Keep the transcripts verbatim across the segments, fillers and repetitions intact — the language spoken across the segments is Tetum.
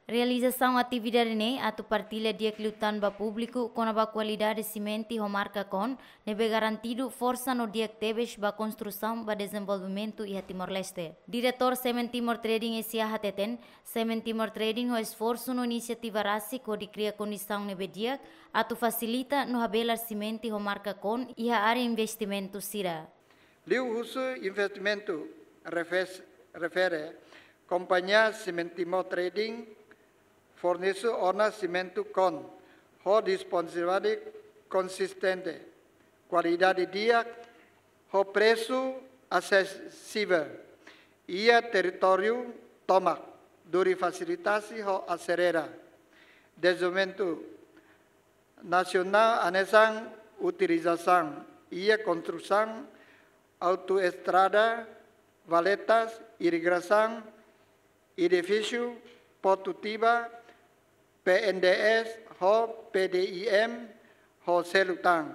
Realizasaun atividade ne'e atu partilla di'ak liután ba públiku kona-ba kualidade simente ho marka Kon, ne'ebé garantidu forsa no di'ak tebes ba konstrusaun ba dezenvolvimentu iha Timor-Leste. Diretór Semen Timor Trading S A hateten, Semen Timor Trading ho esforsu no inisiativa rasik hodi kria kondisaun ne'ebé di'ak atu fasilita no habelar simente ho marka Kon iha área investimentu sira. Liuhusi investimentu refes-, refere, kompañia Semen Timor Trading fornese ona simente Kon ho disponibilidade konsistente, kualidade di'ak, ho presu asesivel iha territóriu tomak, durante fasilitasaun ho aselera dezenvolvimentu nasionál hanesan utilizasaun iha konstrusaun autoestrada, valetas, irrigasaun, edifísiu, portu tiba, P N D S ho P D I M ho seluk tan.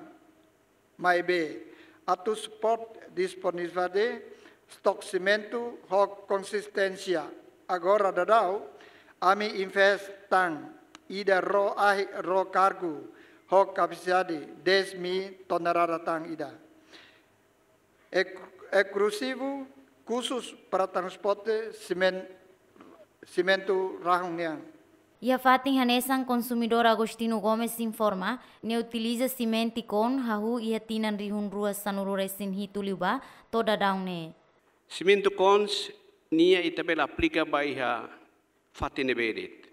Maibé, atu suporta disponibilidade stok simente ho konsisténsia, agora daudaun ami investe tan ida ró ahi ró kargu ho kapasidade dez mil tonelada tan ida. Ek-, ekskluzivu, khusus para transporte simen-, simente rahun nian. Iha fatin hanesan, konsumidór Agostinho Gomes informa, nia utiliza simente Kon hahú iha tinan rihun rua sanulu-resin-hitu liubá to'o daudaun ne'e. Simente Kon nian ita bele aplika ba iha fatin ne'ebé de'it.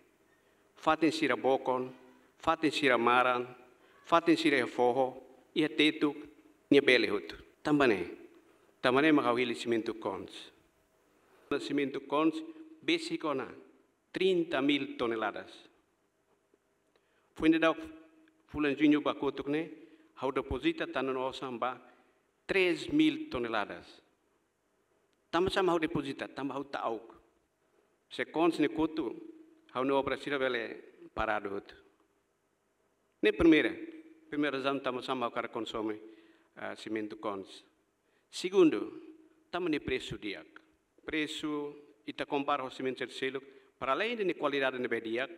Fatin sira bokon, fatin sira maran, fatin sira iha foho, iha tetuk, nia bele hotu. Tanba ne'e, tanba ne'e mak ha'u hili simente Kon. Simente Kon besik ona trinta mil toneladas. Foin daudaun fulan Juñu ba kotuk ne'e, ha'u depozita tan ona osan ba três mil toneladas. Tanba sá mak ha'u depozita, tanba ha'u ta'uk. Se Kon ne'e kotu, ha'u-nia obra sira bele paradu hotu. Ne'e primeira, primeira razaun tanba sá mak ha'u hakarak konsome, ah, simente Kon. Segundu, tanba nia presu di'ak. Presu, ita kompara ho simente sira seluk, para além de nia kualidade ne'ebé di'ak,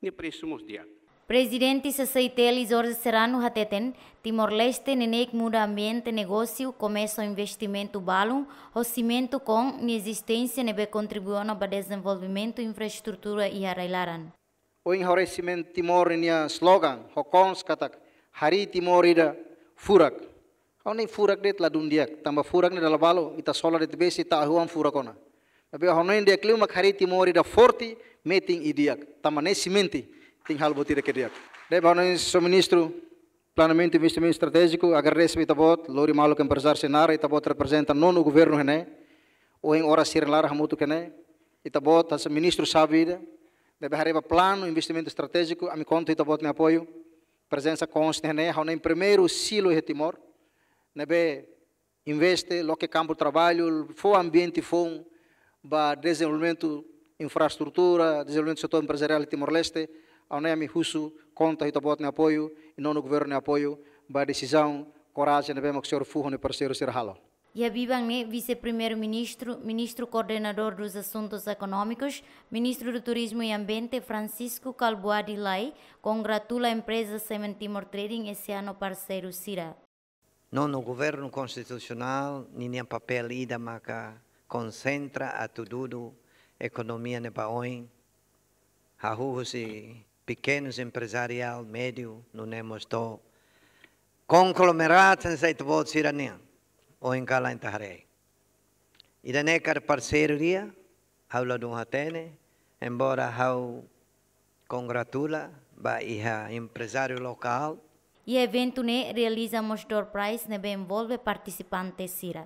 nia presu mós di'ak. Prezidente C C I T L Jorge Serrano hateten, Timor-Leste neineik muda ambiente negósiu, komesa investimentu balun, ho simente Kon nia ezisténsia ne'ebé kontribui ona ba dezenvolvimentu infraestrutura iha rai-laran. Ohin ha'u haree Simente Timor nia slogan, ho Kon katak, harii Timor ida furak. Ha'u hanoin furak de'it ladún di'ak, tanba furak ne'e dala balu, ita sola de'it besik, ita ahuan furak ona. Tapi ha'u hanoin di'ak liu mak harii Timor ida forte, metin i di'ak, tanba ne'e simente, tenke halo buat ida ke di'ak. Ne'ebé ha'u hanoin Señór Ministru Planeamentu Investimentu Estratéjiku, agradese ba ita-boot, lori maluk emprezáriu sira naran, ita-boot reprezenta nonu governu iha ne'e, ohin oras sira-nia laran hamutuk iha ne'e, ita-boot hanesan ministru sábi ida, ne'ebé haree ba planu investimentu estratéjiku, ami konta ita-boot nia apoiu, prezensa Kon iha ne'e, ha'u hanoin primeiru silo iha Timor, ne'ebé investe, loke kampu traballu, fó ambiente foun ba dezenvolvimentu infraestrutura, dezenvolvimentu setór emprezariál Timor-Leste, ha'u hanoin ami husu, konta ita-boot nia apoiu, i nonu governu nia apoiu, ba desizaun, korajen ne'ebé mak señór Fuho nia parseiru sira halo. Iha biban ne'e, Vise-Primeiru-Ministru, Ministru Koordenadór dos Assuntos Económicos, Ministru do Turismo e Ambiente, Francisco Kalbuadi Lay, kongratula empreza Semen Timor Trading S A no parseiru sira. Nonu governu konstitusionál, ninia papél ida maka konsentra atu dudu ekonomia ne'e ba oin, hahú husi pekenus emprezariál, médiu, nune'e mós to'o konglomeradu hanesan ita-boot sira-nian, ohin kalan ita haree. Ida-ne'e karik parseiru di'ak, ha'u ladún hatene, embora ha'u kongratula ba iha emprezáriu lokál. Iha eventu ne'e realiza mós door prize ne'ebé envolve partisipante sira.